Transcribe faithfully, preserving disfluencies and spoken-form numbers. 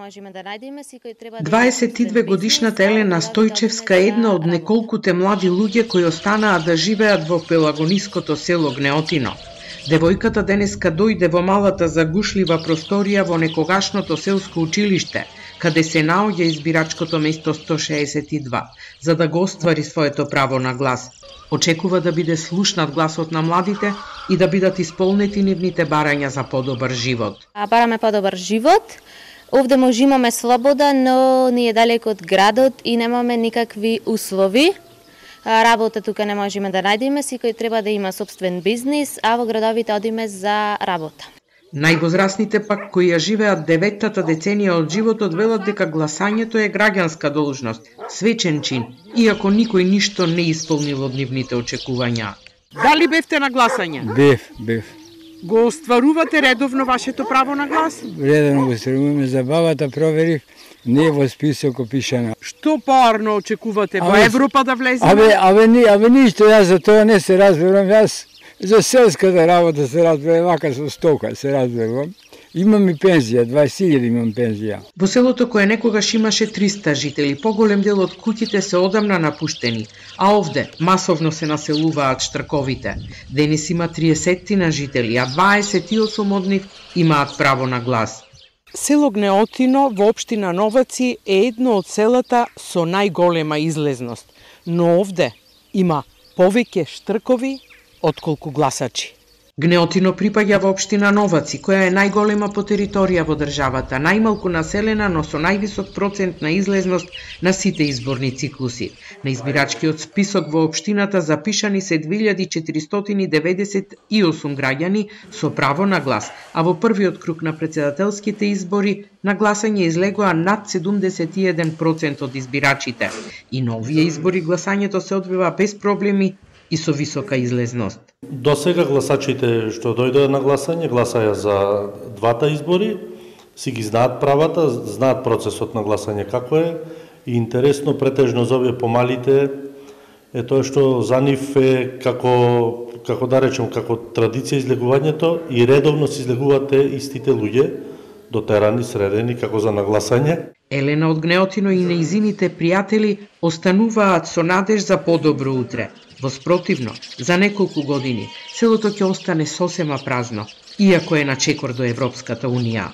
можеме да најдеме, секој треба да дваесет и две годишната Елена Стојчевска е една од неколкуте млади луѓе кои останаа да живеат во пелагониското село Гнеотино. Девојката денеска дојде во малата загушлива просторија во некогашното селско училиште, каде се наоѓа избирачкото место сто шеесет и два, за да го оствари своето право на глас. Очекува да биде слушнат гласот на младите и да бидат исполнети нивните барања за подобар живот. А бараме подобар живот. Овде може имаме слобода, но ни е далеко од градот и немаме никакви услови. Работа тука не можеме да најдеме, секој треба да има собствен бизнис, а во градовите одиме за работа. Највозрасните пак кои ја живеат деветтата деценија од животот велат дека гласањето е граѓанска должност, свечен чин, иако никој ништо не исполнил од нивните очекувања. Дали бевте на гласање? Бев, бев. Го остварувате редовно вашето право на глас? Редовно го остваруваме, за бабата проверив, не е во список опишана. Што поарно очекувате, во Абе, Европа да влеземе? Абе, абе, ни, абе ништо, јас за тоа не се разберам, јас за селската работа се разберам, вака со стока се разберам. Имам и пензија, дваесет илјади имам пензија. Во селото кое некогаш имаше триста жители, поголем дел од куќите се одамна напуштени, а овде масовно се населуваат штрковите. Денес има триесеттина жители, а дваесет и осум од нив имаат право на глас. Село Гнеотино во општина Новаци е едно од селата со најголема излезност, но овде има повеќе штркови отколку гласачи. Гнеотино припаѓа во општина Новаци, која е најголема по територија во државата, најмалку населена, но со највисок процент на излезност на сите изборни циклуси. На избирачкиот список во општината запишани се две илјади четиристотини деветдесет и осум граѓани со право на глас, а во првиот круг на претседателските избори на гласање излегоа над седумдесет и еден процент од избирачите. И на овие избори гласањето се одвива без проблеми и со висока излезност. До сега гласачите што дојдоа на гласање, гласаја за двата избори, си ги знаат правата, знаат процесот на гласање како е, и интересно претежно за овие помалите е тоа што за нив е како, како да речем, како традиција излегувањето и редовно се излегуваат истите луѓе, дотерани, средени, како за нагласање. Елена од Гнеотино и нејзините пријатели остануваат со надеж за подобро утре. Воспротивно, за неколку години, селото ќе остане сосема празно, иако е на чекор до Европската Унија.